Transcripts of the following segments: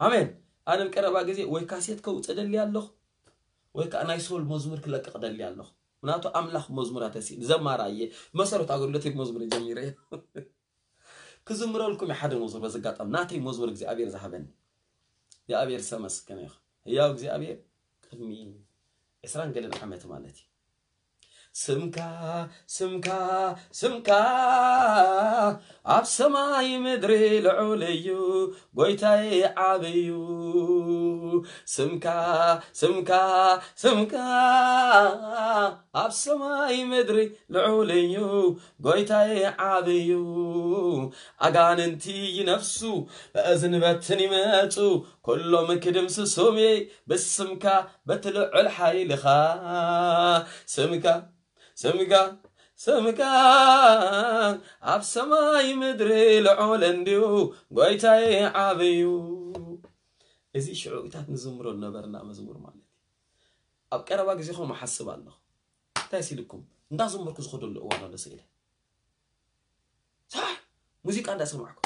ኣሜን። ኣነ ቀረባ ግዜ ወይ ካሴት ከውፅእ ደሊ ኣለኹ፣ ወይ ከዓ ናይ ሶል መዝሙር ክለቅቕ ደሊ ኣለኹ። ምናቱ ኣምላኽ መዝሙራት ተሲ ዘማራ እየ። መሰረት ኣገልግሎት መዝሙር ጀሚረ እየ። ክዝምረልኩም እየ ሓደ መዝሙር። በዚ ኣጋጣሚ ናተይ መዝሙር እግዚኣብሔር ዝሃበኒ እግዚኣብሔር ዝተመስገነ ይኹን። ህያው እግዚኣብሔር ቅድሚ ዕስራን ገለን ዓመት ማለት እዩ። ስምካ ስምካ ስምካ ኣብ ሰማይ ምድሪ ልዑል እዩ፣ ጎይታይ ዓብዩ። ስምካ ስምካ ስምካ ኣብ ሰማይ ምድሪ ልዑል እዩ፣ ጎይታይ ዓብዩ። ኣጋንንቲ ይነፍሱ፣ በእዝን በትን ይመጹ፣ ኩሎም ክድምስሶም እየ ብስምካ በቲ ልዑል ሓይልኻ። ስምካ ስምካ ስምካ ኣብ ሰማይ ምድሪ ልዑል እንድዩ፣ ጎይታይ ዓብዩ። እዚ ሽዑ ኢታት ንዝምሮ ነበርና መዝሙር ማለት እዩ። ኣብ ቀረባ ግዜ ኸም ሓስብ ኣለኹ። እንታይ ሲልኩም እንዳዘመርኩ ዝኸደሉ እዋን ኣሎ ስኢለ ሳሕ ሙዚቃ እንዳሰማዕኩ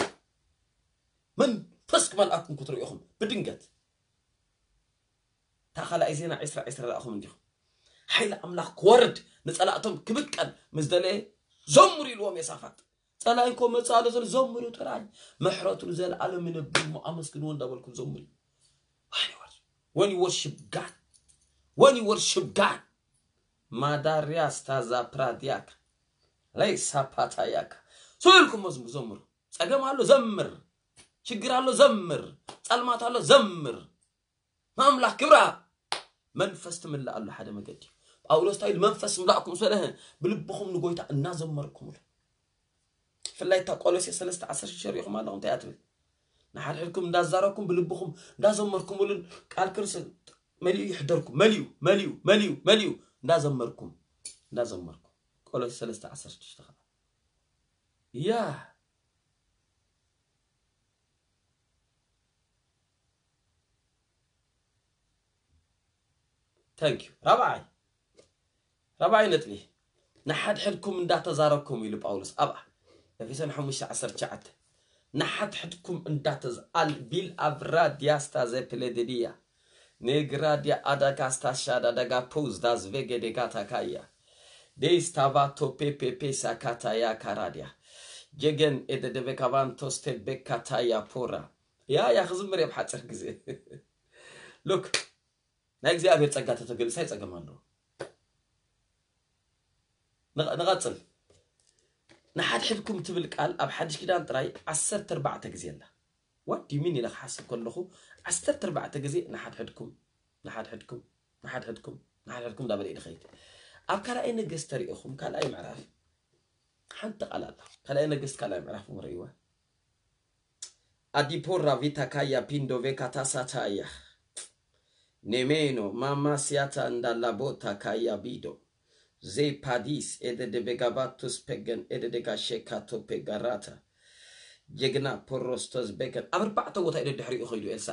መንፈስ ክመልኣኩም ክትርእኹም ብድንገት። እታ ካልኣይ ዜና ዕስራ ዕስራ ርኣኹም እንዲኹም። ሓይሊ ኣምላኽ ክወርድ ንጸላእቶም ክብቀል ምስ ደለየ ዘምሩ ኢልዎም የሳፋጥ። ጸላኢ እኮ መጽእ ኣሎ ዘሎ ዘምሩ ጥራይ። ምሕረቱ ንዘለኣለም ይነብር እሞ ኣመስግንዎ እንዳበልኩም ዘምሩ። When you worship God, when you worship God, ማዳርያ ስታዛ ፕራዲያካ ለይ ሳፓታያካ ስልኩም መዝሙር ዘምሩ። ጸገም ኣሎ ዘምር፣ ሽግር ኣሎ ዘምር፣ ጸልማት ኣሎ ዘምር። ንኣምላኽ ክብራ መንፈስ ትምልእ ኣሎ ሓደ መገዲ። ጳውሎስ እንታይ ኢሉ? መንፈስ ምላእኩም ስለህ ብልብኹም ንጎይታ እናዘመርኩምሉ። ብፍላይ እታ ቆሎሴ ሰለስተ ዓሰርተ ሽዱሽተ ሪኢኹም ኣለኹም እንታይ እያ ትብል? ንሓድሕድኩም እንዳዛረብኩም ብልብኹም እንዳዘመርኩምሉን ቃል ክርስቶስ መሊኡ ይሕደርኩም። መሊኡ መሊኡ መሊኡ መሊኡ እንዳዘመርኩም እንዳዘመርኩም። ቆሎሴ ሰለስተ ዓሰርተ ሽዱሽተ ከዓ ያ Thank you። ራብዓይ ራብዓይ ነጥቢ ንሓድሕድኩም እንዳተዛረብኩም ኢሉ ጳውሎስ ኣብ ኤፌሶን ሓሙሽተ ዓሰርተ ትሽዓተ ንሓድሕድኩም እንዳተዝ ኣል ቢል ኣብራ ዲያስታ ዘፕሌድድያ ኔግራ ዲያ ኣዳጋስታ ሻዳ ደጋ ፖዝ ዳዝ ቬገ ዴጋ ታካያ ዴስታቫ ቶፔ ፔፔ ሳካታያ ካራድያ ጀገን ኤደደበካቫንቶስ ቴቤካታያ ፖራ ያ ያ ክዝምር እየ ብሓፂር ግዜ ሉክ ናይ እግዚኣብሔር ጸጋ ተተገሊጽ ኣይጸገም ኣለዎ። ንቐ- ንቐጽል ንሓድሕድኩም ትብል ቃል ኣብ ሓድሽ ኪዳን ጥራይ ዓሰርተ ኣርባዕተ ግዜ ኣላ። What do you mean ኢለ ክሓስብ ከለኹ ዓሰርተ ኣርባዕተ ግዜ ንሓድሕድኩም ንሓድሕድኩም ንሓድሕድኩም ንሓድሕድኩም እንዳበለ እዩ ድኸይድ። ኣብ ካልኣይ ነገስት ተሪእኹም ካልኣይ ምዕራፍ ሓንቲ ቃል ኣላ። ካልኣይ ነገስት ካልኣይ ምዕራፍ እሞ ርእይዋ። ኣዲፖራ ቪታ ካያ ፒንዶ ቬካ ታሳ ታያ ኔሜኖ ማማ ሲያታ እንዳላ ቦታ ካያ ቢዶ ዜ ፓዲስ ኤደ ደቤጋባቱስ ፔገን ኤደ ደጋ ሼካቶ ፔጋራታ ጀግና ፖሮስቶስ ቤገን ኣብ ኣርባዕተ ቦታ እዩ ደድሕሪኡ ከይዱ ኤልሳ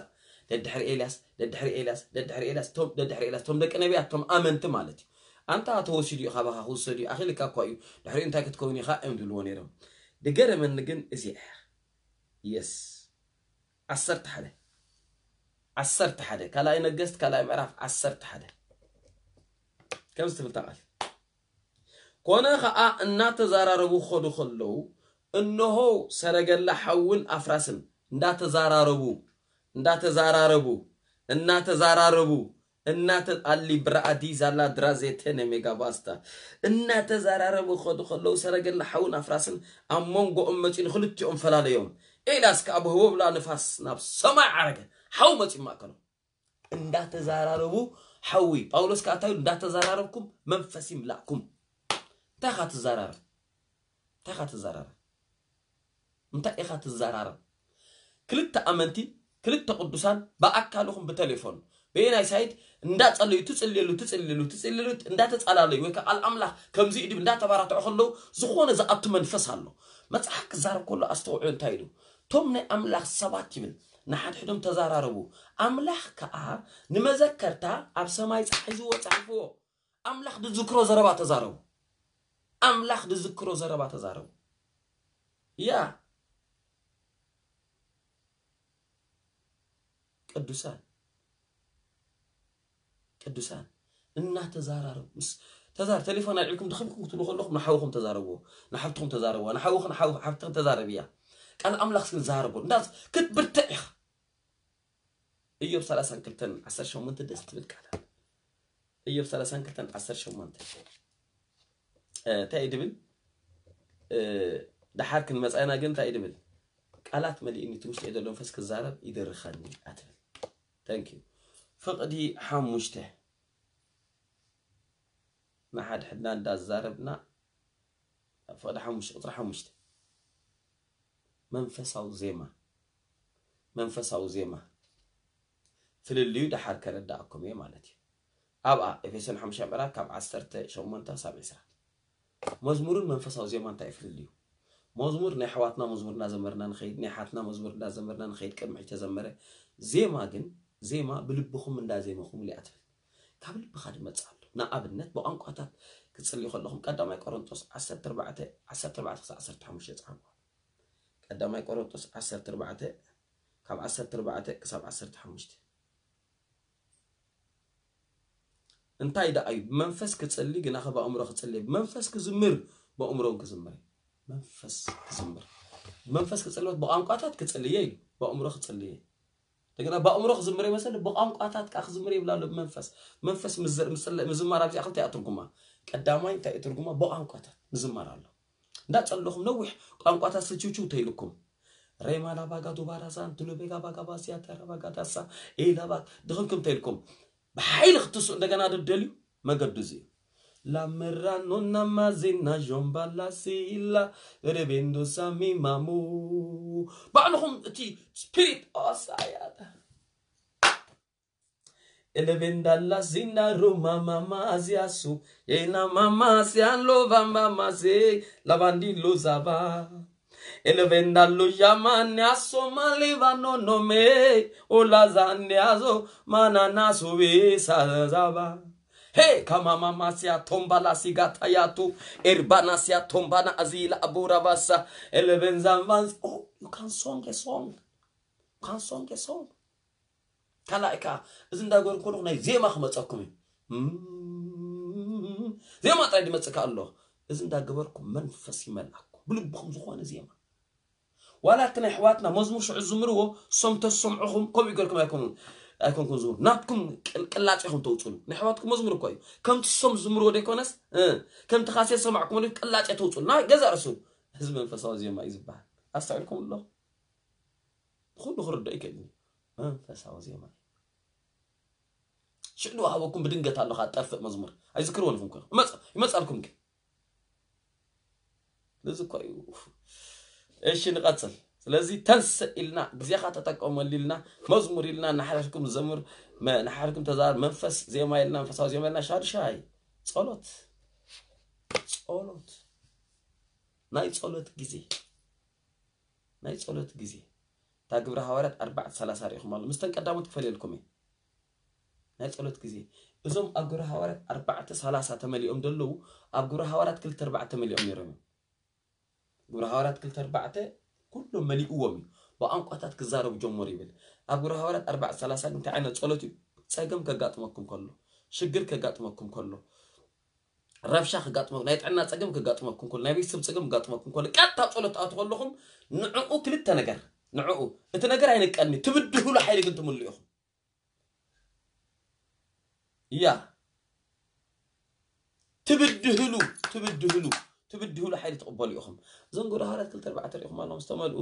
ደድሕሪ ኤልያስ ደድሕሪ ኤልያስ ደድሕሪ ኤልያስ ቶም ደድሕሪ ኤልያስ ቶም ደቂ ነቢያት ቶም ኣመንቲ ማለት እዩ ኣንታ ተወሲዱ እዩ ካባኻ ክውሰድ እዩ ኣኺልካ እኳ እዩ ድሕሪኡ እንታይ ክትከውን ኢኻ እዮም ዝብልዎ ነይሮም ድገረመኒ ግን እዚኣ እያ የስ ዓሰርተ ሓደ ዓሰርተ ሓደ ካልኣይ ነገስት ካልኣይ ምዕራፍ ዓሰርተ ሓደ ከምዚ ትብል ቃል ኮነ ኸዓ እናተዛራረቡ ክኸዱ ከለዉ እነሆ ሰረገላ ሓውን ኣፍራስን እንዳተዛራረቡ እንዳተዛራረቡ እናተዛራረቡ እናተ ኣሊ ብራኣዲ ዛላ ድራዜተነ ሜጋባስታ እናተዛራረቡ ክኸዱ ከለዉ ሰረገላ ሓውን ኣፍራስን ኣብ መንጎኦም መፂኡ ንክልቲኦም ፈላለዮም ኤልያስ ከዓ ብህቦብላ ንፋስ ናብ ሰማይ ዓረገ ሓው መፂኡ ማእከሎም እንዳተዛራረቡ ሓዊ ጳውሎስ ከዓ እንታይ ኢሉ እንዳተዛራረብኩም መንፈስ ይምላእኩም እንታይ ኢኻ ትዛራረብ እንታይ ኢኻ ትዛራረብ እንታይ ኢኻ ትዛራረብ ክልተ ኣመንቲ ክልተ ቅዱሳን ብኣካልኹም ብቴሌፎን በየናይ ሳይድ እንዳጸለዩ ትጽልየሉ ትጽልየሉ ትጽልየሉ እንዳተጻላለዩ ወይ ከዓ ኣምላኽ ከምዚ እዩ ድብ እንዳተባራትዑ ከለዉ ዝኾነ ዝኣቱ መንፈስ ኣሎ መጽሓፍ ክዛረብ ከሎ ኣስተውዕሉ እንታይ ኢሉ እቶም ናይ ኣምላኽ ሰባት ይብል ንሓድሕዶም ተዛራረቡ ኣምላኽ ከዓ ንመዘከርታ ኣብ ሰማይ ፀሓይ ዝወ ፀሓፍዎ ኣምላኽ ድዝክሮ ዘረባ ተዛረቡ ኣምላኽ ድዝክሮ ዘረባ ተዛረቡ ያ ቅዱሳን ቅዱሳን እናተዛራረቡ ምስ ተዛር ቴሌፎን ኣልዒልኩም ድኽምኩም ክትብሉ ከለኹም ንሓውኹም ተዛረብዎ፣ ንሓብትኹም ተዛረብዋ፣ ንሓውኽን ሓው- ሓብትኽን ተዛረብያ። ቃል ኣምላኽ ግን ዛረቦ እንዳ ክትብርትዕ ኢኻ። ኢዮብ ሰላሳን ክልተን ዓሰርተ ሸሞንተ ደስ ትብል ቃል። ኢዮብ ሰላሳን ክልተን ዓሰርተ ሸሞንተ እንታይ እዩ ድብል? ደሓር ክንመፃ ኢና። ግን እንታይ እዩ ድብል? ቃላት መሊእኒ እቲ ውሽጢ ዘሎ መንፈስ ክዛረብ ይደርኸኒ ኣትብል። Thank you። ፍቕዲ ሓሙሽተ ንሓድሕድና እንዳዛረብና ፍቕዲ ሓሙሽተ ቁፅሪ ሓሙሽተ መንፈሳዊ ዜማ መንፈሳዊ ዜማ ፍልልዩ ደሓር ከረዳእኩም እየ ማለት እዩ። ኣብኣ ኤፌሶን ሓሙሽተ ምዕራፍ ካብ ዓሰርተ ሸሞንተ ሳብ ዕስራ። መዝሙርን መንፈሳዊ ዜማ እንታይ እዩ ፍልልዩ? መዝሙር ናይ ኣሕዋትና መዝሙር እናዘመርና ንኸይድ፣ ናይ ሓትና መዝሙር እናዘመርና ንኸይድ ቅድሚ ሕጂ ተዘመረ። ዜማ ግን ዜማ ብልብኹም እንዳዜመኹም ኢሉ እያ ትብል። ካብ ልብኻ ድመጽእ ኣሎ። ንኣብነት ብቋንቋታት ክትጽልዩ ከለኹም ቀዳማይ ቆሮንጦስ ዓሰርተ ኣርባዕተ ዓሰርተ ኣርባዕተ ክሳብ ዓሰርተ ሓሙሽተ ጸሓፉ። ቀዳማይ ቆሮንጦስ ዓሰርተ ኣርባዕተ ካብ ዓሰርተ ኣርባዕተ ክሳብ ዓሰርተ ሓሙሽተ። እንታይ ደኣ እዩ? ብመንፈስ ክጽሊ ግናኸ ብኣእምሮ ክጽሊ፣ ብመንፈስ ክዝምር ብኣእምሮ እውን ክዝምር። መንፈስ ክዝምር። ብመንፈስ ክጽሊ ብቋንቋታት ክጽልየ እዩ፣ ብኣእምሮ ክጽልየ። እንደገና ብኣእምሮ ክዝምር ይመስል፣ ብቋንቋታት ከዓ ክዝምር ይብል ኣሎ። ብመንፈስ መንፈስ ምዝር- ምጽለ- ምዝማር ኣብዚኣ ክልተ እያ ትርጉማ። ቀዳማይ እንታይ እዩ ትርጉማ? ብቋንቋታት ምዝማር ኣሎ። እንዳጸለኹም ነዊሕ ቋንቋታት ስችውችው ተይልኩም ሬማ ላባጋ ዱባራዛ እንትሉ ቤጋ ባጋ ባሲያ ተራ ባጋ ዳሳ ኤላ ባ ድኽምክም ተይልኩም ብሓይሊ ክትስኡ እንደገና ድደልዩ መገዱ እዚ እዩ። ላመራኖ ናማዜና ዦምባላ ሲላ ሬቤንዶ ሳሚ ማሙ ባዕልኹም እቲ ስፒሪት ኦሳያታ Elevendala zinda roma mama aziasu. Yena mama sian lova mama se. Lavandi lozava. Elevenda lo yamane aso maliva no nome. Ola zane azo manana sobe sazava. Hey, kama mama sia tomba la sigata yatu. Erbana sia tomba na azila abura vasa. Elevenza vans. Oh, you can song a song. You can song a song. ካልኣይ ከዓ እዚ እንዳገበርኩም ከለኹ ናይ ዜማ ክመፀኩም እዩ። እም፣ ዜማ ጥራይ ድመፅእ ከኣ ኣሎ። እዚ እንዳገበርኩም መንፈስ ይመልኣኩም። ብልብኹም ዝኾነ ዜማ። ዋላ እቲ ናይ ኣሕዋትና መዝሙር ሽዑ ዝምርዎ፣ ሶም ተሰምዑኹም፣ ከምኡ ይገርኩም ኣይኮኑን፣ ኣይኮንኩም ዝምሩ። ናትኩም ቅል- ቅላፅ ኢኹም ተውፅሉ። ናይ ኣሕዋትኩም መዝሙር እኮ እዩ። ከምቲ ሶም ዝምርዎ ደይኮነስ፣ እ፣ ከምቲ ካሴት ሰማዕኩም ቅላፅ ተውፅሉ። ናይ ገዛ ርእሱ። እዚ መንፈሳዊ ዜማ እዩ ዝበሃል። ኣስተውዒልኩም ኣሎ? ንኹሉ ክርዳእ ይክእል እዩ። መንፈሳዊ ዜማ እዩ። ሽዕዱ ሃበኩም ብድንገት ኣለኻ ጠፍእ መዝሙር ኣይዝክርዎን ኢኹም እኮ ይመጽ- ይመጻልኩም ግን እዚ እኮ እዩ። እሺ ንቐጽል። ስለዚ ተንስእ ኢልና ግዜኻ ተጠቀመሉ ኢልና መዝሙር ኢልና ንሓድሕድኩም ዘምር መ- ንሓድሕድኩም ተዛር መንፈስ ዜማ ኢልና መንፈሳዊ ዜማ ኢልና ሻድሻይ ጸሎት ጸሎት ናይ ጸሎት ግዜ ናይ ጸሎት ግዜ እታ ግብረ ሃዋርያት ኣርባዕተ ሰላሳ ርኢኹም ኣሎ ምስተን ቀዳሞት ክፈልየልኩም እየ ናይ ጸሎት ግዜ እዞም ኣብ ግብረ ሃዋርያት ኣርባዕተ ሰላሳ ተመሊኦም ዘለዉ ኣብ ግብረ ሃዋርያት ክልተ ኣርባዕተ ተመሊኦም ነይሮም እዮም ግብረ ሃዋርያት ክልተ ኣርባዕተ ኩሎም መሊእዎም እዩ ብቋንቋታት ክዛረቡ ጀመሩ ይብል ኣብ ግብረ ሃዋርያት ኣርባዕተ ሰላሳ ግን እንታይ ዓይነት ጸሎት እዩ ጸገም ከጋጥመኩም ከሎ ሽግር ከጋጥመኩም ከሎ ረብሻ ክጋጥመኩም ናይ ጥዕና ጸገም ክጋጥመኩም ከሎ ናይ ቤተሰብ ጸገም ክጋጥመኩም ከሎ ቀጥታ ጸሎት ትኣቱ ከለኹም ንዕኡ ክልተ ነገር ንዕኡ እቲ ነገር ኣይንቀልኒ ትብድህሉ ሓይሊ ግን ትምሉ ኢኹም እያ ትብድህሉ ትብድህሉ ትብድህሉ ሓይሊ ትቕበሉ ኢኹም እዞም ግብረ ሃዋርያት ክልተ ኣርባዕተ ርኢኹም ኣለኹም ዝተመልኡ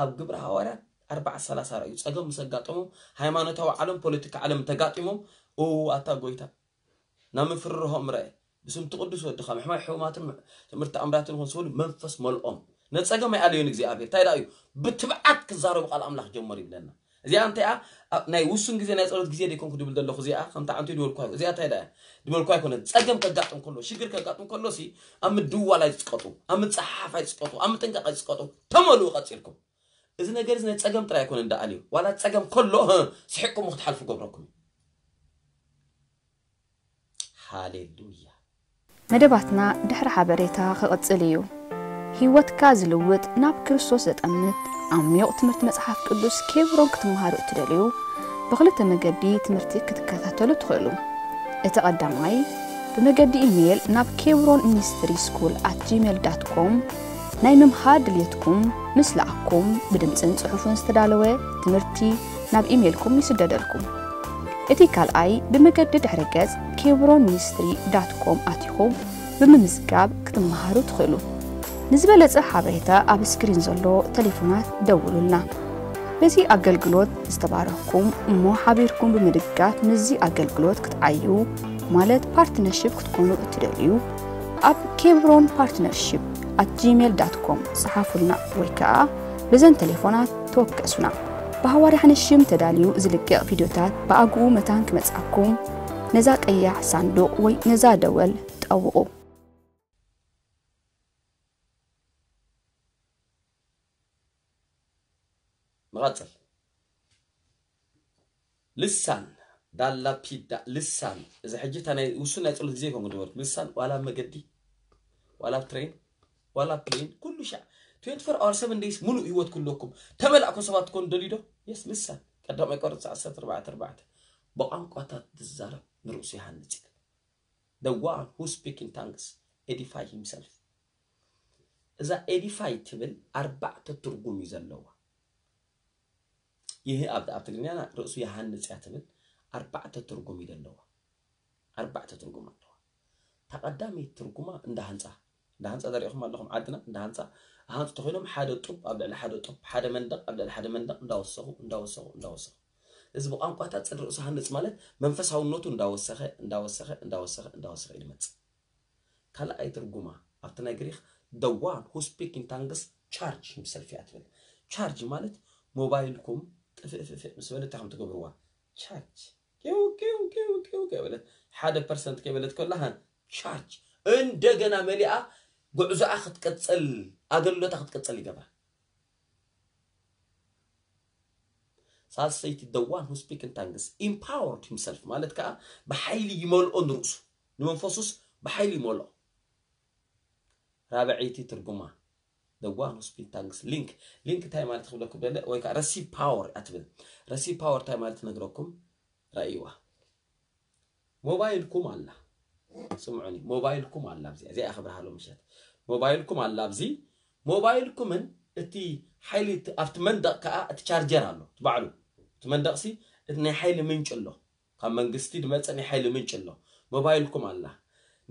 ኣብ ግብረ ሃዋርያት ኣርባዕተ ሰላሳ ርኣዩ ጸገም ምስ ኣጋጠሞም ሃይማኖታዊ ዓለም ፖለቲካ ዓለም ተጋጢሞም እው ኣታ ጎይታ ናብ ምፍርርሆም ርአ ብስምቲ ቅዱስ ወድኻ ምሕማይ ሕሙማትን ትምህርቲ ኣምራትን ይኹን ዝበሉ መንፈስ መልኦም ነጸገም ኣይኣለዮን እግዚኣብሔር እንታይ ደኣ እዩ ብትብዓት ክዛረቡ ቃል ኣምላኽ ጀመሩ ይብለና እዚኣ እንታይ እያ ኣብ ናይ ውሱን ግዜ ናይ ጸሎት ግዜ ደይኮንኩ ድብል ዘለኹ እዚኣ ከምታ ዓንቱ ድበልኳ እዚኣ እንታይ ደኣ ድበልኳ ኣይኮነ ጸገም ከጋጥም ከሎ ሽግር ከጋጥም ከሎ ሲ ኣብ ምድዋል ኣይትስቀጡ ኣብ ምጽሓፍ ኣይትስቀጡ ኣብ ምጥንቃቕ ኣይትስቀጡ ተመልኡ ቀጺልኩም እዚ ነገር እዚ ናይ ጸገም ጥራይ ኣይኮነን ደኣ ኣልዩ ዋላ ጸገም ከሎ ስሒቅኩም ክትሓልፉ ገብረኩም እዩ ሃሌሉያ መደባትና ድሕሪ ሓበሬታ ክቕጽል እዩ። ህይወትካ ዝልውጥ ናብ ክርስቶስ ዘጠምት ዓሚቕ ትምህርቲ መጽሓፍ ቅዱስ ኬብሮን ክትመሃሩ እትደልዩ ብኽልተ መገዲ ትምህርቲ ክትከታተሉ ትኽእሉ። እቲ ቀዳማይ ብመገዲ ኢሜይል ናብ ኬብሮን ሚኒስትሪ ስኩል ኣት ጂሜል ዳት ኮም ናይ ምምሃር ድልየትኩም ምስ ለኣኩም ብድምፅን ፅሑፍን ዝተዳለወ ትምህርቲ ናብ ኢሜይልኩም ይስደደልኩም። እቲ ካልኣይ ብመገዲ ድሕረ ገፅ ኬብሮን ሚኒስትሪ ዳት ኮም ኣቲኹም ብምምዝጋብ ክትመሃሩ ትኽእሉ። ንዝበለጸ ሓበሬታ ኣብ ስክሪን ዘሎ ቴሌፎናት ደውሉልና። በዚ ኣገልግሎት ዝተባረኽኩም እሞ ሓቢርኩም ብምድጋፍ ምስዚ ኣገልግሎት ክትዓዩ ማለት ፓርትነርሺፕ ክትኮኑ እትደልዩ ኣብ ኬብሮን ፓርትነርሺፕ ኣት ጂሜል ዳት ኮም ጸሓፉልና ወይ ከኣ በዘን ቴሌፎናት ተወከሱና። ብሃዋርያ ሓንሽም ተዳልዩ ዝልቀቕ ቪድዮታት ብኣግኡ መታን ክመጻኩም ነዛ ቀያሕ ሳንዱቕ ወይ ነዛ ደወል ጠውቑ። ንቐጽል። ልሳን ዳላ ፒዳ ልሳን። እዚ ሕጂ እታ ናይ ውሱን ናይ ጸሎት ግዜ ይኮን ክድበርኩ። ልሳን ዋላ ኣብ መገዲ ዋላ ኣብ ትሬን ዋላ ኣብ ፕሌን ኩሉ ሻዕ ትዌንቲ ፎር ኣወር ሰቨን ደይስ ሙሉእ ህይወት ክህልወኩም ተመላእኩም ሰባት ትኮኑ ደልዩ ዶ? የስ ልሳን ቀዳማይ ቆሮንቶስ ዓሰርተ ኣርባዕተ ኣርባዕተ ብቋንቋታት ዝዛረብ ንርእሱ ይሃንጽ ይብል። The one who speak in tongues edify himself። እዛ ኤዲፋይ ትብል ኣርባዕተ ትርጉም እዩ ዘለዋ። ይህ ኣብ ኣብ ትግርኛና ርእሱ ይሃንጽ እያ ትብል ኣርባዕተ ትርጉም እዩ ዘለዋ። ኣርባዕተ ትርጉም ኣለዋ። እታ ቀዳመይቲ ትርጉማ እንዳ ህንጻ እንዳ ህንጻ ዘሪእኹም ኣለኹም ዓድና እንዳ ህንጻ ሃንጹ ተኮይኖም ሓደ ጡብ ኣብ ልዕሊ ሓደ ጡብ ሓደ መንደቕ ኣብ ልዕሊ ሓደ መንደቕ እንዳወሰኹ እንዳወሰኹ እንዳወሰኹ እዚ ብቋንቋታት ጽድ ርእሱ ሃንጽ ማለት መንፈሳውነቱ እንዳወሰኸ እንዳወሰኸ እንዳወሰኸ እንዳወሰኸ እዩ ዝመጽእ። ካልኣይ ትርጉማ ኣብቲ ናይ ግሪክ the one who speak in tongues charge himself እያ ትብል። ቻርጅ ማለት ሞባይልኩም ጥፍእፍእፍእ ምስ በለ እንታይ ከም ትገብርዋ ቻርጅ ኪው ኪው ኪው ኪው ከይበለት ሓደ ፐርሰንት ከይበለት ከላ ሃ ቻርጅ እንደገና መሊኣ ጉዕዞኣ ክትቅጽል ኣገልግሎታ ክትቅጽል ይገብራ። ሳልሰይቲ the one who speak in tongues empowered himself ማለት ከዓ ብሓይሊ ይመልኦ ንርእሱ ንመንፈሱስ ብሓይሊ ይመልኦ። ራብዐይቲ ትርጉማ the one who speak tongues link link እንታይ ማለት ክብለኩም ደለ ወይ ከዓ receive power እያ ትብል። Receive power እንታይ ማለት ነግረኩም ረእይዋ። ሞባይልኩም ኣላ ስምዑኒ ሞባይልኩም ኣላ ኣብዚ እዚኣ ክብርሃሎ ምሸት ሞባይልኩም ኣላ ኣብዚ ሞባይልኩምን እቲ ሓይሊ ኣብቲ መንደቕ ከዓ እቲ ቻርጀር ኣሎ ባዕሉ እቲ መንደቕሲ እቲ ናይ ሓይሊ ምንጭ ኣሎ ካብ መንግስቲ ዝመፀ ናይ ሓይሊ ምንጭ ኣሎ ሞባይልኩም ኣላ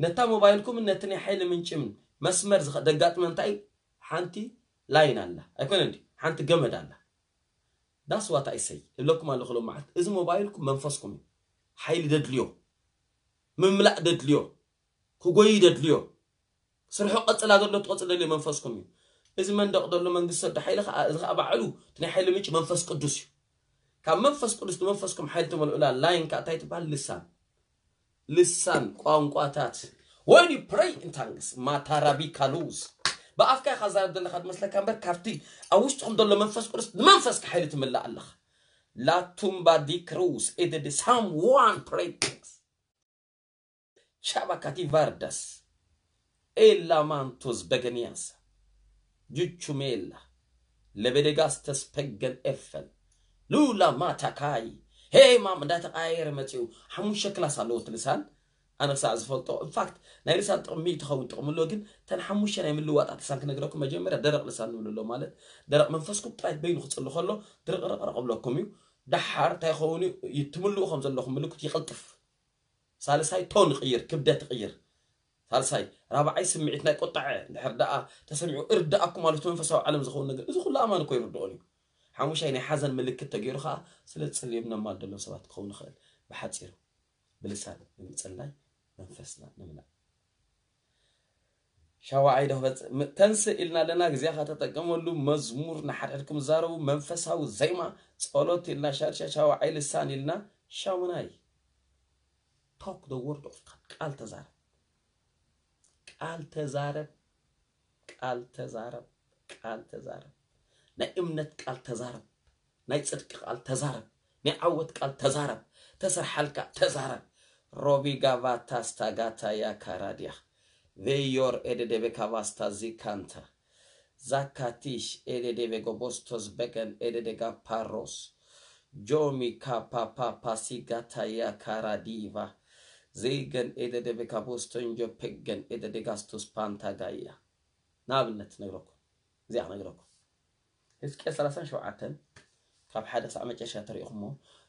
ነታ ሞባይልኩምን ነቲ ናይ ሓይሊ ምንጭ መስመር ደጋጥመ እንታይ ሓንቲ ላይን ኣላ ኣይኮነ ሓንቲ ገመድ ኣላ ዳስ ዋት ኣይ ሰይ እብለኩም ኣለኹ ሎም መዓልቲ እዚ ሞባይልኩም መንፈስኩም እዩ ሓይሊ ደድልዮ ምምላእ ደድልዮ ክጎይ ደድልዮ ስርሑ ቀጽል ኣገሎ ትቐጽል ደልዮ መንፈስኩም እዩ እዚ መንደቕ ደሎ መንግስቲ ሰዶ ሓይሊ ከዓ እዚ ከዓ ባዕሉ እቲ ናይ ሓይሊ ምንጭ መንፈስ ቅዱስ እዩ ካብ መንፈስ ቅዱስ ንመንፈስኩም ሓይሊ ትመልኡላ ላይን ከዓ እንታይ ትበሃል ልሳን ልሳን ቋንቋታት when you pray in tongues ማታራቢ ካሉዝ ብኣፍካ ኢኻ ዛረብ ዘለካ ዝመስለካ እምበር ካብቲ ኣብ ውሽጥኹም ዘሎ መንፈስ ቅዱስ ንመንፈስካ ሓይሊ ትምላእ ኣለኻ ላቱምባ ዲ ክሩዝ ኢድድ ሳም ዋን ፕሬይ ቻባካቲ ቫርዳስ ኤላ ማንቶዝ በገኒያስ ጁቹሜላ ለቤደጋስተስ ፐገን ኤፈል ሉላ ማታካይ ሄማም እንዳተቃየረ መፅኡ ሓሙሽተ ክላስ ኣለዎ እቲ ልሳን ኣነ ክሳዕ ዝፈልጦ ኢንፋክት ናይ ልሳን ጥቕሚ ትኸውን ጥቕሚ ኣሎ ግን ተን ሓሙሽተ ናይ ምልዋጣት ልሳን ክነግረኩም መጀመርያ ደረቕ ልሳን ንብሉ ኣሎ ማለት ደረቕ መንፈስኩም ጥራይ በይኑ ክፅሉ ከሎ ድርቕርቕርቕ ብለኩም እዩ ደሓር እንታይ ይኸውን እዩ ትምልኡ ከም ዘለኹም ምልክት ይቕልጥፍ ሳልሳይ ቶን ይቕይር ክብደት ይቕይር ሳልሳይ ራብዓይ ስምዒት ናይ ቁጣዐ እንድሕር ደኣ ተሰሚዑ እርዳኣኩም ማለት መንፈሳዊ ዓለም ዝኸውን ነገር እዚ ኩሉ ኣማን እኮ ይርድኦን እዩ ሓሙሻይ ናይ ሓዘን ምልክት ተገይሩ ከዓ ስለ ዝጽልዮም ነማል ደሎም ሰባት ክኸውን ይኽእል ብሓፂሩ ብልሳን ብምፅላይ መንፈስና ንምላእ ሻዋዓይ ዶ ክበፅእ ተንስእ ኢልና ኣለና ግዜኻ ተጠቀመሉ መዝሙር ንሓድሕድኩም ዛረቡ መንፈሳዊ ዜማ ጸሎት ኢልና ሻድሻ ሻዋዓይ ልሳን ኢልና ሻሙናይ talk the word of God ቃል ተዛረብ ቃል ተዛረብ ቃል ተዛረብ ቃል ተዛረብ ናይ እምነት ቃል ተዛረብ ናይ ጽድቂ ቃል ተዛረብ ናይ ዓወት ቃል ተዛረብ ተሰርሓልካ ተዛረብ ሮቢ ጋቫታ ስታጋታ ያካራዲያ ቬዮር ኤደዴቤ ካቫስታ ዚካንታ ዛካቲሽ ኤደዴቤ ጎቦስቶስ በገን ኤደዴጋ ፓሮስ ጆሚ ካፓፓ ፓሲጋታያ ካራዲቫ ዘይገን ኤደደቤካ ቦስቶንጆ ፔገን ኤደደጋስቶስ ፓንታጋያ። ንኣብነት ነግረኩም፣ እዚኣ ክነግረኩም። ህዝቅኤል ሰላሳን ሸውዓተን ካብ ሓደ ክሳዕ መጨረሻ ተሪእኹሞ፣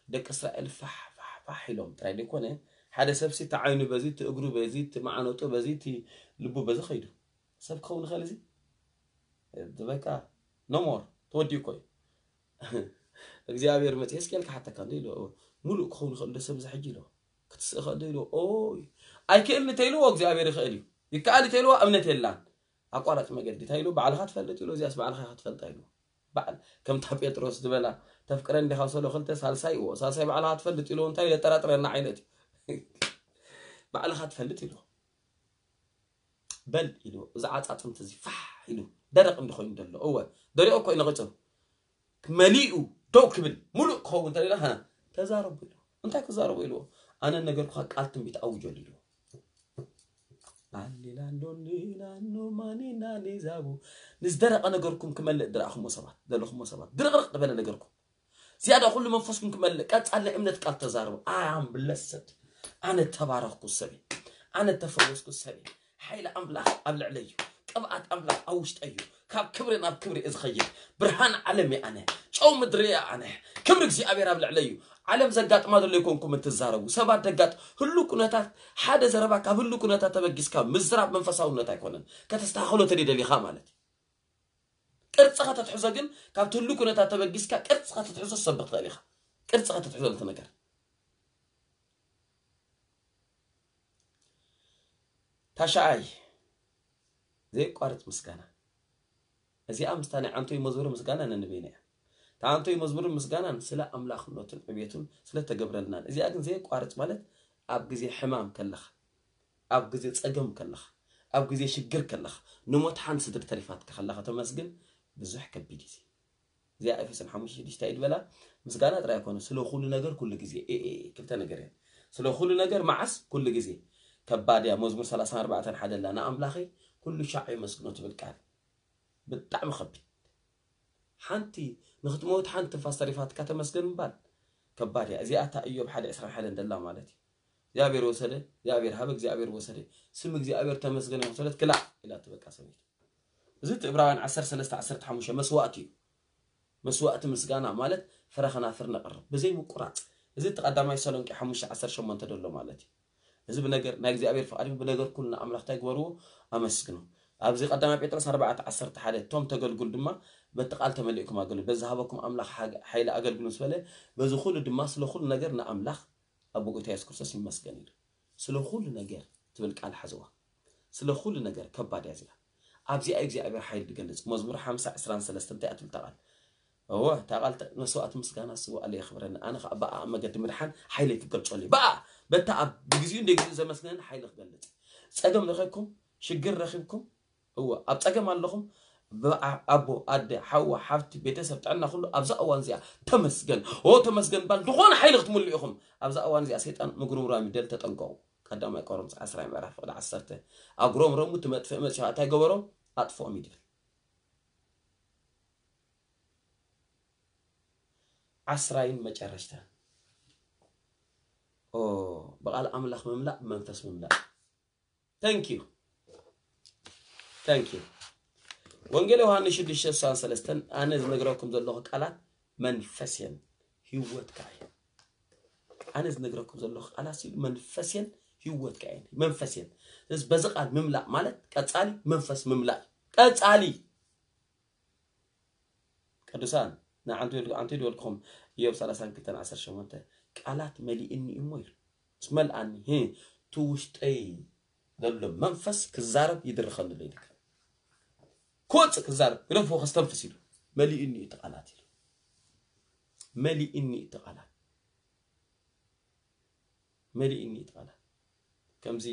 ደቂ እስራኤል ፋሕ ፋሕ ፋሕ ኢሎም ጥራይ ዘይኮነ፣ ሓደ ሰብሲ እቲ ዓይኑ በዚ፣ እቲ እግሩ በዚ፣ እቲ ማዕነጡ በዚ፣ እቲ ልቡ በዚ ኸይዱ። ሰብ ክኸውን ይኽእል እዚ? በቃ ኖ ሞር፣ ተወዲኡ እኮ እዩ። እግዚኣብሔር መጽ-፣ ህዝቅኤል ክሓተካ እንደ ኢሉ፣ ሙሉእ ክኸውን ይኽእል ዶ ሰብ እዚ ሕጂ ኢሉ? ክትስእ ይኽእል ዶ ኢሉ? ኦይ፣ ኣይክእልን እንተ ኢልዎ እግዚኣብሔር ይኽእል እዩ። ይከኣል እንተ ኢልዎ እምነት የላን። ኣቋራጭ መገዲ እንታይ ኢሉ? ባዕልኻ ትፈልጥ ኢሉ፣ እዚኣስ ባዕልኻ ኢኻ ትፈልጣ ኢሉ። ባዕል-፣ ከምታ ጴጥሮስ ዝበላ፣ "ተፍቅረኒ ዲኻ?" ሰሎ ክልተ፣ ሳልሳይ እዎ፣ ሳልሳይ ባዕልኻ ትፈልጥ ኢሉ፣ እንታይ ኢሉ? የጠራጥረና ዓይነት እዩ። ባዕልኻ ትፈልጥ ኢሉ። በል ኢሉ፣ እዚ ዓጻጽምቲ እዚ ፋሕ ኢሉ፣ ደረቕ እንዲ ኮይኑ ዘሎ። እወ፣ ደሪቑ እኮ እዩ ነቒጹ። መሊኡ ደው ክብል፣ ሙሉእ ክኸውን እንተደለኻ፣ ተዛረቡ ኢሉ። እንታይ ክዛረቡ ኢልዎ? "ኣነ ነገርኩኻ ቃል ትንቢት ኣውጀሉ" ኢልዎ። ኣሊላንዶ ሊላንዶ ማኒና ሊዛቡ። ንዝደረቐ ነገርኩም ክመልእ ድረኣኹሞ ሰባት፣ ዘለኹሞ ሰባት፣ ድርቕርቕ ዝበለ ነገርኩም። ዝያዳ ኩሉ መንፈስኩም ክመልእ፣ ቀጻሊ ናይ እምነት ቃል ተዛረቡ። "I am blessed." ኣነ ተባረኽኩ ሰበይ። ኣነ ተፈወስኩ ሰበይ። ሓይሊ ኣምላኽ ኣብ ልዕለይ እዩ። ቅብኣት ኣምላኽ ኣብ ውሽጠይ እዩ። ካብ ክብሪ ናብ ክብሪ እየ ዝኸይድ። ብርሃን ዓለም እየ ኣነ። ጨው ምድሪ እየ ኣነ። ክብሪ እግዚኣብሔር ኣብ ልዕለይ እዩ። ዓለም ዘጋጥማ ዘሎ ኣይኮንኩም እትዛረቡ። ሰባት ደጋጥ-፣ ህሉ ኩነታት፣ ሓደ ዘረባ ካብ ህሉ ኩነታት ተበጊስካ ምዝራብ መንፈሳውነት ኣይኮነን። ከተስተኻኽሎ ተደይ ደሊኻ ማለት እዩ። ቅርጺ ከተትሕዞ ግን፣ ካብቲ ህሉ ኩነታት ተበጊስካ ቅርጺ ከተትሕዞ ትሰብኽ ትኽእል ኢኻ። ቅርጺ ከተትሕዞ ነቲ ነገር። ታሽዓይ፣ ዘየቋርጽ ምስጋና። እዚኣ ምስታ ናይ ዓንቶይ መዝሙር ምስጋና ነንበይና እያ። እታ ዓንቶይ መዝሙርን ምስጋናን ስለ ኣምላኽነቱን ዕቤቱን ስለ ተገብረልናን። እዚኣ ግን ዘየቋርጽ ማለት ኣብ ግዜ ሕማም ከለኻ፣ ኣብ ግዜ ጸገም ከለኻ፣ ኣብ ግዜ ሽግር ከለኻ፣ ንሞት ሓንቲ ስድሪ ተሪፋትካ ከላ ከተመስግን ብዙሕ ከቢድ እዩ። እዚኣ ኤፌሶን ሓሙሽተ ሽዱሽተ እዩ ዝበላ። ምስጋና ጥራይ ኣይኮነ፣ ስለ ኩሉ ነገር ኩሉ ግዜ። ኤ፣ ኤ፣ ኤ፣ ክልተ ነገር እየን። ስለ ኩሉ ነገር መዓስ? ኩሉ ግዜ። ከባድ እያ። መዝሙር ሰላሳን ኣርባዕተን ሓደ ኣላ፣ "ንኣምላኸይ ኩሉ ሻዕ የመስግኖ" ትብል ቃል። ብጣዕሚ ከቢድ። ሓንቲ ንኽትመውት ሓንቲ ትንፋስ ተሪፋትካ ተመስገን ምባል ከባድ እያ። እዚኣ እታ ኢዮብ ሓደ ዕስራን ሓደን ደላ ማለት እዩ። "እግዚኣብሔር ወሰደ፣ እግዚኣብሔር ሃበ፣ እግዚኣብሔር ወሰደ፣ ስም እግዚኣብሔር ተመስገነ ይኹን" ሰለት ክላእ ኢላ ትበቃ ሰበይቲ። እዚ እቲ ዕብራውያን ዓሰርተ ሰለስተ ዓሰርተ ሓሙሽተ መስዋእቲ እዩ። መስዋእቲ ምስጋና ማለት ፍረ ከናፍር ነቕርብ ብዘይ ምቁራጽ። እዚ እቲ ቀዳማይ ተሰሎንቄ ሓሙሽተ ዓሰርተ ሸሞንተ ደሎ ማለት እዩ። እዚ ብነገር ናይ እግዚኣብሔር ፍቓድ እዩ። ብነገር ኩሉ ንኣምላኽ እንታይ ግበርዎ? ኣመስግኑ። ኣብዚ ቀዳማይ ጴጥሮስ ኣርባዕተ ዓሰርተ ሓደ፣ "እቶም ተገልግሉ ድማ በቲ ቃል ተመሊእኩም ኣገልግሉ። በዚ ዝሃበኩም ኣምላኽ ሓገ-፣ ሓይሊ ኣገልግሉ" ምስ በለ፣ "በዚ ኩሉ ድማ ስለ ኩሉ ነገር ንኣምላኽ ኣብ ጎይታ የሱስ ክርስቶስ ይመስገን" ኢሉ። ስለ ኩሉ ነገር ትብል ቃል ሓዝዋ። ስለ ኩሉ ነገር ከባድ እያ እዚኣ። ኣብዚኣ እዩ እግዚኣብሔር ሓይሊ ዝገልጽ። መዝሙር ሓምሳ ዕስራን ሰለስተን እንታይ እያ ትብል እታ ቃል? እወ፣ እታ ቃል ተ-፣ "መስዋእቲ ምስጋና ስውኣለይ የኽብረኒ፣ ኣነ ኸኣ ብኣኣ መገዲ ምድሓን ሓይለይ ክገልጸሉ እየ። ብኣኣ፣ በታ ኣብ ብግዜኡ እንደ ግዜኡ ዘመስግነኒ ሓይሊ ክገልጽ እየ።" ጸገም ረኺብኩም፣ ሽግር ረኺብኩም፣ እወ፣ ኣብ ጸገም ኣለኹም፣ ብኣ-፣ ኣቦ፣ ኣደ፣ ሓዋ፣ ሓፍቲ፣ ቤተሰብ፣ ጥዕና፣ ኩሉ ኣብዛ እዋን እዚኣ ተመስገን፣ ኦ ተመስገን ባል ዝኾነ ሓይሊ ክትምሉ ኢኹም። ኣብዛ እዋን እዚኣ ሰይጣን ምጉርምራም እዩ፣ ደል ተጠንቀቑ። ቀዳማይ ቆሮንቶስ ዓስራይ ምዕራፍ ፍቕዲ ዓሰርተ፣ "ኣጉረምረሙ፣ እቲ መጥፍኢ መጺኡ እንታይ ገበሮም? ኣጥፍኦም" እዩ ድብል። ዓስራይን መጨረሽታ። ኦ፣ ብቓል ኣምላኽ ምምላእ፣ ብመንፈስ ምምላእ። Thank you። Thank you። ወንጌል ዮሃንስ ሽዱሽተ ስሳን ሰለስተን፣ "ኣነ ዝነግረኩም ዘለኹ ቃላት መንፈስ እየን፣ ህይወት ከኣ እየን።" ኣነ ዝነግረኩም ዘለኹ ቃላት ሲሉ መንፈስ እየን፣ ህይወት ከኣ እየን። መንፈስ እየን። ስለዚ በዚ ቃል ምምላእ ማለት ቀጻሊ መንፈስ ምምላእ እዩ። ቀጻሊ። ቅዱሳን፣ ንዓንቱ ኢሉ-፣ ዓንቱ ኢሉ በልኩኹም፣ ኢዮብ ሰላሳን ክልተን ዓሰርተ ሸሞንተ፣ "ቃላት መሊእኒ እሞ" ኢሉ። ምስ መልኣኒ፣ ህ፣ እቲ ውሽጠይ ዘሎ መንፈስ ክዛረብ ይድርኸሉ ኢልካ። ክወጽእ ክዛረብ፣ ግደፍዎ ከስተንፍስ ኢሉ። መሊእኒ እቲ ቃላት ኢሉ። መሊእኒ እቲ ቃላት። መሊእኒ እቲ ቃላት። ከምዚ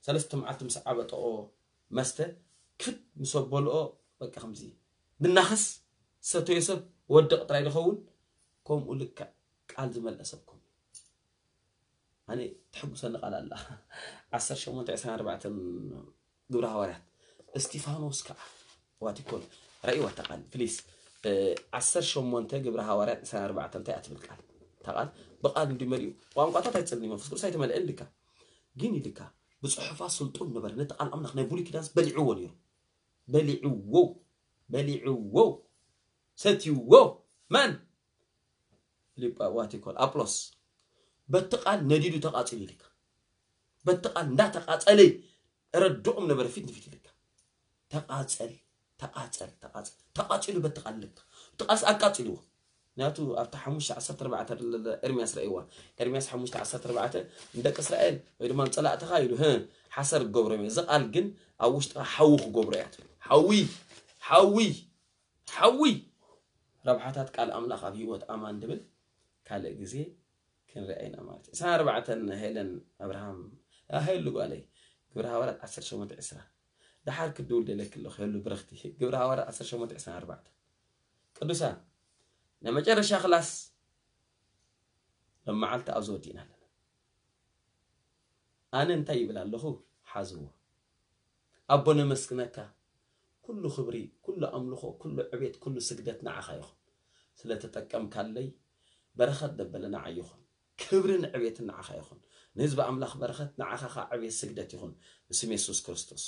ሰለስተ መዓልቲ ምስ ዓበጠኦ መስተ፣ ክፍት ምስ ኣበልኦ፣ በቃ ከምዚ ብናኸስ ሰተዮ ሰብ ወድቕ ጥራይ ዝኸውን፣ ከምኡ ልክዕ ቃል ዝመልአ ሰብ ከምኡ። ኣነ ተሐጉሰኒ ቃል ኣላ። ዓሰርተ ሸሞንተ ዕስራን ኣርባዕተን ግብሪ ሃዋርያት። እስጢፋኖስ ከኣ ዋቲኮን ረእይዋ እታ ቃል፣ ፕሊስ። እ፣ ዓሰርተ ሸሞንተ ግብሪ ሃዋርያት ዕስራን ኣርባዕተን እንታይ እያ ትብል ቃል? እታ ቃል ብቃል እንዲ መሊኡ ቋንቋታት ኣይትጸልኒ መንፈስ ቅዱስ ኣይተመልአን ኢልካ ግን ኢልካ ብጽሑፋ ስልጡን ነበረ ነቲ ቃል ኣምላኽ ናይ ብሉይ ኪዳንስ በሊዕዎ ነይሩ በሊዕዎ በሊዕዎ ሰትይዎ መን ፊልጳ ዋቲኮል ኣጵሎስ በቲ ቃል ነዲዱ ተቃጺሉ ኢልካ በቲ ቃል እንዳተቃጸለ ረድኦም ነበረ ፊት ንፊት ኢልካ ተቃጸል ተቃጸል ተቃጸል ተቃጺሉ በቲ ቃል ኢልካ እቲ ቃልስ ኣቃጺልዎ ምክንያቱ ኣብቲ ሓሙሽተ ዓሰርተ ኣርባዕተ ኤርሚያስ ረእይዋ ኤርሚያስ ሓሙሽተ ዓሰርተ ኣርባዕተ ንደቂ እስራኤል ወይ ድማ ንጸላእትኻ ኢሉ ህ ሓሰር ክገብሮም እዩ እዚ ቃል ግን ኣብ ውሽጥኻ ሓዊ ክገብሮ እያ ትብል ሓዊ ሓዊ ሓዊ ረብሓታት ቃል ኣምላኽ ኣብ ህይወት ኣማን ድብል ካልእ ግዜ ክንሪኣ ኢና ማለት እዩ። ዕስራን ኣርባዕተን ሄለን ኣብርሃም ሄሉ ጓለይ ግብረ ሃዋርያት ዓሰርተ ሸሞንተ ዕስራ ደሓር ክድውል ደለኪ ኣለኹ ሄሉ ብርኽቲ ግብረ ሃዋርያት ዓሰርተ ሸሞንተ ዕስራን ኣርባዕተን ቅዱሳን ናይ መጨረሻ ክላስ ሎም መዓልቲ ኣብዚ ወዲእና ኣለና። ኣነ እንታይ ይብል ኣለኹ ሓዝዎ ኣቦ ነመስግነካ ኩሉ ክብሪ ኩሉ ኣምልኾ ኩሉ ዕቤት ኩሉ ስግደት ንዓኻ ይኹን ስለተጠቀምካለይ በረኸት ደበለ ንዓይ ይኹን ክብርን ዕቤትን ንዓኻ ይኹን ንህዝቢ ኣምላኽ በረኸት ንዓኻ ኸዓ ዕቤት ስግደት ይኹን ብስም የሱስ ክርስቶስ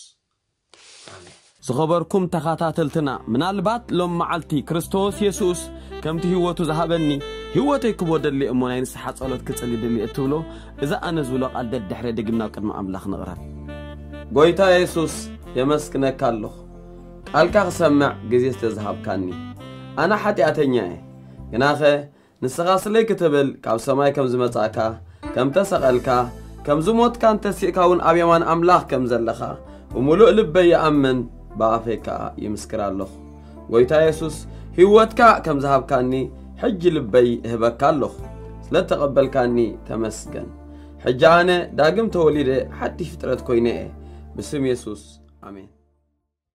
ኣሜን ዝኸበርኩም ተኻታተልትና ምናልባት ሎም መዓልቲ ክርስቶስ የሱስ ከምቲ ህይወቱ ዝሃበኒ ህይወተይ ክቦ ደሊ እሞ ናይ ንስሓ ጸሎት ክጽሊ ድሊ እትብሎ እዚ ኣነ ዝብሎ ቃል ደድሕረ ድግምና ቅድሚ ኣምላኽ ንቕረብ ጎይታ የሱስ የመስግነካ ኣለኹ ቃልካ ክሰምዕ ግዜ ስለ ዝሃብካኒ ኣነ ሓጢኣተኛ እየ ግናኸ ንስኻ ስለይ ክትብል ካብ ሰማይ ከም ዝመጻእካ ከም ተሰቐልካ ከም ዝሞትካን ተሲእካ እውን ኣብ የማን ኣምላኽ ከም ዘለኻ ብምሉእ ልበይ ይኣምን ብኣፈይ ከኣ ይምስክር ኣለኹ ጎይታ የሱስ ህይወትካ ከም ዝሃብካኒ ሕጂ ልበይ እህበካ ኣለኹ ስለ ተቐበልካኒ ተመስገን ሕጂ ኣነ ዳግም ተወሊደ ሓድሽ ፍጥረት ኮይነ እየ ብስም የሱስ ኣሜን